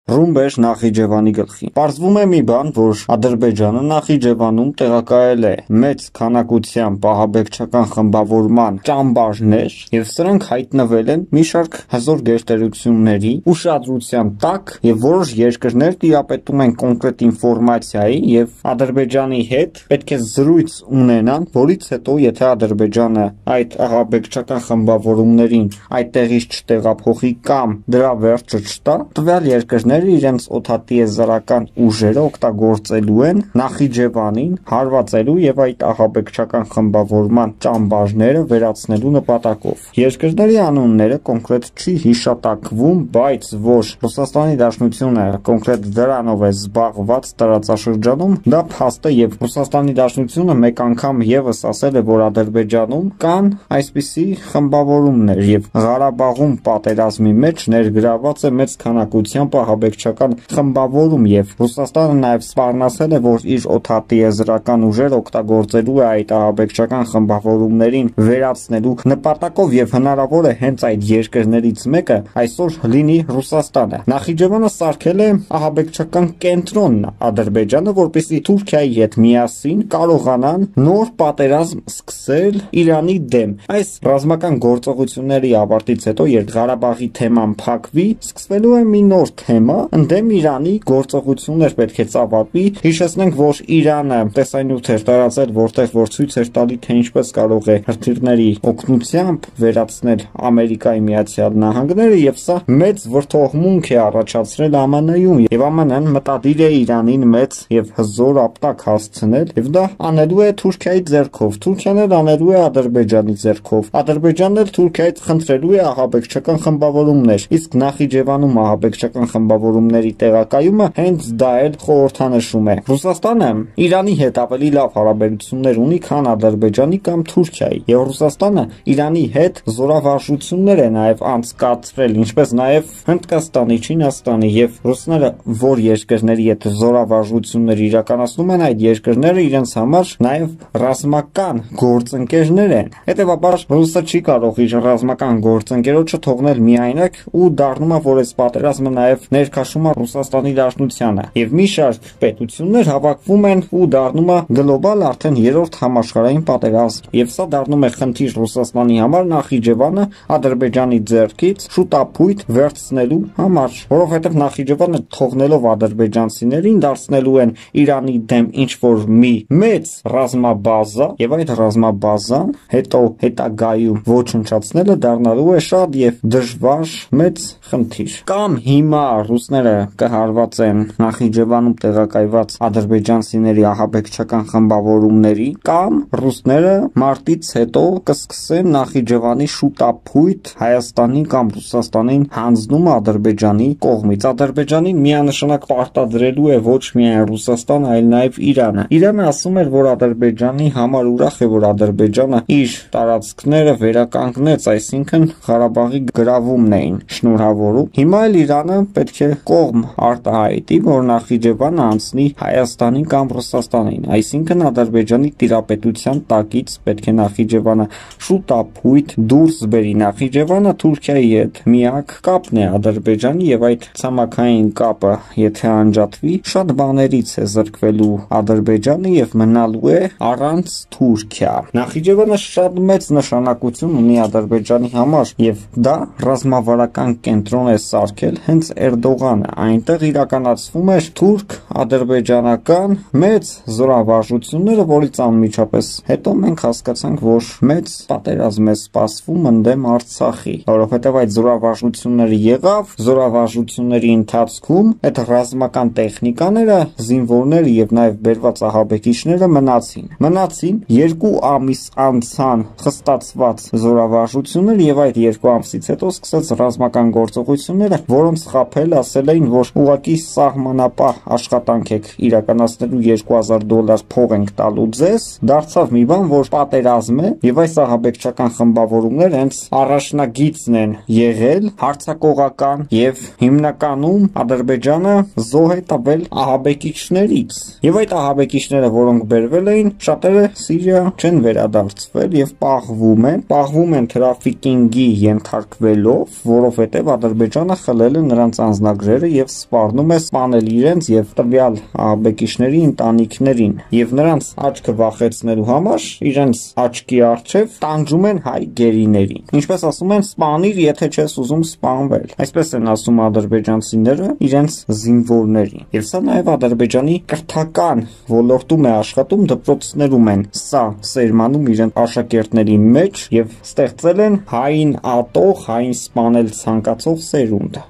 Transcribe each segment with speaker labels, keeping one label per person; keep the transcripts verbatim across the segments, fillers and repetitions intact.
Speaker 1: ռումբեր Նախիջևանի գլխին։ Պարզվում է մի բան, որ Ադրբեջանը Նախիջևանում տեղակայել է մեծ քանակությամբ ահաբեկչական խմբավորման ճամբարներ, եւ սրանք հայտնվել են մի շարք հզոր գերտերությունների ուշադրության տակ, եւ որոշ երկրներ տիրապետում են կոնկրետ ինֆորմացիայի եւ Ադրբեջանի հետ պետք է զրույց ունենան, որից հետո եթե Ադրբեջանը այդ ահաբեկչական խմբավորումներին այդտեղից չտեղափոխի կամ դրա վերջը չտա, տվյալ երկրները իրենց օդատիեզերական ուժերը օգտագործելու են Նախիջևանին հարվածելու եւ այդ ահաբեկչական խմբավորման ճամբարները վերացնելու նպատակով։ Երկրների անունները կոնկրետ չի հիշատակվում, բայց որ Ռուսաստանի Դաշնությունը կոնկրետ դրանով է զբաղված տարածաշրջանում, դա փաստ է եւ Ռուսաստանի Դաշնությունը մեկ անգամ եւս ասել է, որ Ադրբեջանում կան այսպիսի խմբավորումներ եւ Ղարաբաղում պատերազմի մեջ ներգրաված է մեծ քանակությամբ ահաբեկչական խմբավորում եւ Ռուսաստանը նաեւ սպառնացել է, որ իր օդատիեզերական ուժերը օգտագործելու է այդ ահաբեկչական խմբավորումներին վերացնելու նպատակով եւ հնարավոր է հենց այդ երկրներից մեկը այսօր լինի Ռուսաստանը։ Նախիջևանը սարքել է ահաբեկչական կենտրոնն Ադրբեջանը, որպեսզի Թուրքիայի հետ միասին կարողանան նոր պատերազմ սկսել Իրանի դեմ։ Այս ռազմական գործողությունների ավարտից հետո, երբ Ղարաբաղի թեման փակվի, սկսվելու է մի նոր թեմա, ընդդեմ Իրանի գործողություններ պետք է ծավալվի։ Հիշեցնենք, որ Իրանը տեսանյութ էր տարածել, որտեղ որ ցույց էր տալի, թե ինչպես կարող է հրթիռների օգնությամբ վերացնել Ամերիկայի Միացյալ Նահանգները, եւ սա մեծ վրդովմունք է առաջացրել ԱՄՆ-ում, եւ ԱՄՆ-ն մտադիր է Իրանին մեծ եւ հզոր ապտակ հասցնել, եւ դա անելու է Թուրքիայի ձեռքով, Թուրքիան էլ անելու է Ադրբեջանի ձեռքով, Ադրբեջանն էլ Թուրքիայից խնդրելու է ահաբեկչական խմբավորումներ, իսկ Նախիջևանում ահաբեկչական խմբավորումների տեղակայումը հենց դա էլ խորհրդանշում է։ Ռուսաստանը Իրանի հետ ավելի լավ հարաբերություններ ունի, քան Ադրբեջանի կամ Թուրքիայի, եւ Ռուսաստանը Իրանի հետ զորավարժություններ է նաեւ անցկացրել, ինչպես նաեւ Հնդկաստանի, Չինաստանի, եւ ռուսները որ երկրների հետ զորավարժություններ իրականացնում են, այդ երկրները իրենց համար նաեւ ռազմական գործընկերներ են։ Հետևաբար Ռուսը չի կարող իր ռազմական գործընկերոջը թողնել միայնակ ու դառնում է, որ այս պատերազմը նաեւ ներքաշում է Ռուսաստանի Դաշնությանը, եւ մի շարք պետություններ հավաքվում են ու դառնում է գլոբալ արդեն երրորդ համաշխարհային պատերազմ, եւ սա դառնում է խնդիր Ռուսաստանի համար Նախիջևանը Ադրբեջանի ձեռքից շուտապույտ վերցնելու համար, որովհետեւ Նախիջևանը թողնելով ադրբեջանցիներին դարձնելու են Իրանի դեմ ինչ որ մի մեծ ռազմաբազա, եւ այդ ռազմաբազան հետո հետագայում ոչնչացնելը դառնալու է շատ եւ դժվար մեծ խնդիր։ Կամ հիմա ռուսները կհարվածեն Նախիջևանում տեղակայված ադրբեջանցիների ահաբեկչական խմբավորումների, կամ ռուսները մարտից հետո կսկսեն Նախիջևանի շուտապույտ Հայաստանի կամ Ռուսաստանին հանձնում Ադրբեջանի կողմից։ Ադրբեջանին միանշանակ պարտադրելու է ոչ միայն Ռուսաստանը, այլ նաեւ Իրանը։ Իրանը ասում էր, որ Ադրբեջանի համար ուրախ է, որ Ադրբեջանը իր տարածքները վերականգնեց, այսինքն Ղարաբաղի գրավումն էին շնորհավորում։ Հիմա էլ Իրանը պետք է կողմ արտահայտի, որ Նախիջևանը անցնի Հայաստանի կամ Ռուսաստանին, այսինքն Ադրբեջանի տիրապետության տակից պետք է Նախիջևանը շուտապույտ դուրս բերի։ Նախիջևանը Թուրքիայի հետ միակ կապն է Ադրբեջանի, եւ այդ ցամաքային կապը եթե անջատվի, շատ բաներից է զրկվելու Ադրբեջանը եւ մնալու է առանց Թուրքիա։ Նախիջևանը շատ մեծ նշանակություն ունի Ադրբեջանի համար, եւ դա ռազմավարական կենտրոն է սարքել հենց Էրդողանը։ Այնտեղ իրականացվում էր թուրք-ադրբեջանական մեծ զորավարժությունները, որից անմիջապես հետո մենք հասկացանք, որ մեծ պատերազմ է սպասվում ընդդեմ Արցախի, որովհետեւ այդ զորավարժությունները եղավ, զորավարժությունների ընթացքում այդ ռազմական տեխնիկաները, զինվորները եւ նաեւ բերված ահաբեկիչները մնացին։ Մնացին երկու ամիս անցան խստացված զորավարժություններ, եւ այդ երկու ամսից հետո սկսեց ռազմական գործողությունները, որոնց խաբել ասել էին, որ ուղղակի սահմանապահ աշխատանք եք իրականացնելու, երկու հազար դոլար փող ենք տալու ձեզ, դարձավ մի բան, որ պատերազմ է, եւ այս ահաբեկչական խմբավորումները հենց առաջնագիծն են եղել հարձակողական, եւ հիմնականում Ադրբեջանը զոհ է տվել ահաբեկիչներից, եւ այդ ահաբեկիչները, որոնք բերվել էին, շատերը Սիրիա չեն վերադարձվել եւ պահվում են, պահվում են թրաֆիկինգի ենթարկվելով, որովհետեւ Ադրբեջանը խլել է նրանց անձնական ծրագրերը եւ սպառնում է սպանել իրենց եւ տվյալ ահաբեկիչների ընտանիքներին եւ նրանց աչքը վախեցնելու համար իրենց աչքի առջև տանջում են հայ գերիներին։ Ինչպես ասում են, սպանիր, եթե չես ուզում սպանվել։ Այսպես են ասում ադրբեջանցիները իրենց զինվորներին։ Եվ սա նաեւ Ադրբեջանի կրթական ոլորտում է աշխատում, դպրոցներում են սա սերմանում իրենց աշակերտների մեջ եւ ստեղծել են հային ատող, հային սպանել ցանկացող սերունդ։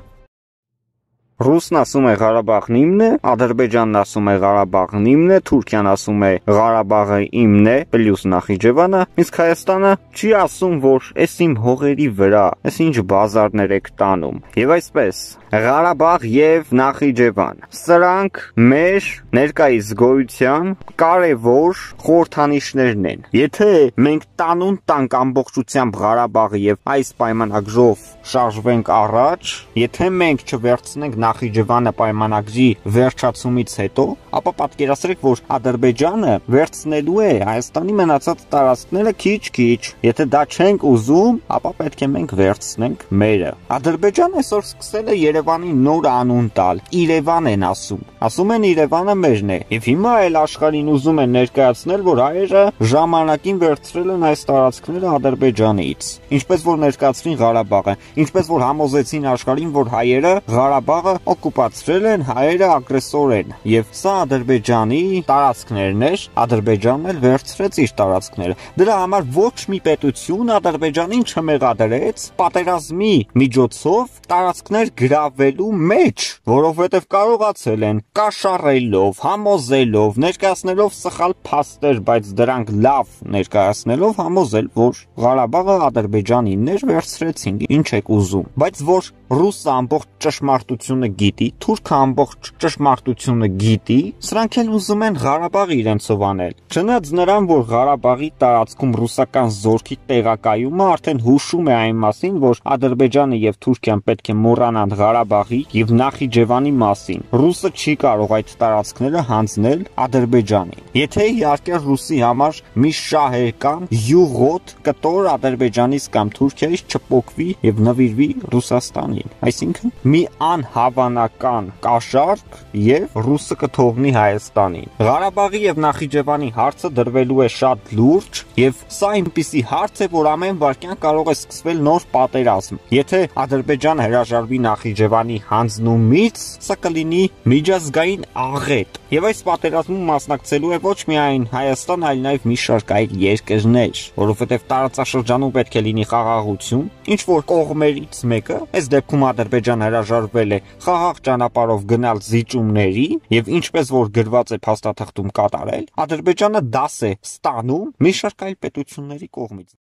Speaker 1: Ռուսն ասում է Ղարաբաղն իմն է, Ադրբեջանն ասում է Ղարաբաղն իմն է, Թուրքիան ասում է Ղարաբաղը իմն է, պլյուս Նախիջևանը, իսկ Հայաստանը չի ասում, որ էս իմ հողերի վրա, էս ինչ բազարներ եք տանում։ Եվ այսպես Ղարաբաղ եւ Նախիջևան, սրանք մեր ներկայիս գոյության կարևոր խորհրդանիշներն են։ Եթե մենք տանուն տանք ամբողջությամբ Ղարաբաղը եւ այս պայմանագրով շարժվենք առաջ, եթե մենք չվերցնենք Նախիջևանը պայմանագրի վերջացումից հետո, ապա պատկերացրեք, որ Ադրբեջանը վերցնելու է Հայաստանի մնացած տարածքները քիչ-քիչ։ Եթե դա չենք ուզում, ապա պետք է մենք վերցնենք մերը։ Ադրբեջանը այսօր սկսել է Երևանի նոր անուն տալ։ Իրևան են ասում։ Ասում են Իրևանը մերն է։ Եվ հիմա էլ աշխարհին ուզում են ներկայացնել, որ հայերը ժամանակին վերցրել են այս տարածքները Ադրբեջանից։ Ինչպես որ ներկայացրին Ղարաբաղը, ինչպես որ համոզեցին աշխարհին, որ հայերը Ղարաբաղը օկուպացրել են, հայերը ագրեսոր են։ Եվ սա Ադրբեջանի տարածքներն էր, Ադրբեջանն էլ վերցրեց իր տարածքները։ Դրա համար ոչ մի պետություն Ադրբեջանին չմեղադրեց պատերազմի միջոցով տարածքներ գրավելու մեջ, որովհետև կարողացել են կաշառելով, համոզելով, ներկայացնելով սխալ փաստեր, բայց դրանք լավ ներկայացնելով համոզել, որ Ղարաբաղը Ադրբեջանինն էր, վերցրեցին, ինչ եք ուզում։ Բայց որ ռուսը ամբողջ ճշմարտությունը գիտի, թուրքը ամբողջ ճշմարտությունը գիտի, սրանք էլ ուզում են Ղարաբաղը իրենցով անել։ Չնայած նրան, որ Ղարաբաղի տարածքում ռուսական զորքի տեղակայումը արդեն հուշում է այն մասին, որ Ադրբեջանը եւ Թուրքիան պետք է մոռանան Ղարաբաղի եւ Նախիջևանի մասին։ Ռուսը չի կարող այդ տարածքները հանձնել Ադրբեջանին։ Եթե իհարկե ռուսի համար մի շահեր կամ յուղոտ կտոր Ադրբեջանից կամ Թուրքիայից չփոկվի եւ նվիրվի Ռուսաստանին։ Այսինքն մի անհավանական կաշառք եւ ռուսը կթողնի Հայաստանին։ Ղարաբաղի եւ Նախիջևանի հարցը դրվելու է շատ լուրջ եւ սա այնպիսի հարց է, որ ամեն վարքյան կարող է սկսվել նոր պատերազմ։ Եթե Ադրբեջանը հրաժարվի Նախիջևանի հանձնումից, սա կլինի միջազգային աղետ։ Եվ այս պատերազմում մասնակցելու է ոչ միայն Հայաստան, այլ նաեւ մի շարք այլ երկրներ, որովհետեւ տարածաշրջանում պետք է լինի խաղաղություն, ինչ որ կողմերից մեկը, այս դեպքում Ադրբեջանը հրաժարվել է խաղաղ ճանապարհով գնալ զիջումների եւ ինչպես որ գրված է փաստաթղթում կատարել, Ադրբեջանը դաս է ստանում մի շարք այլ պետությունների կողմից։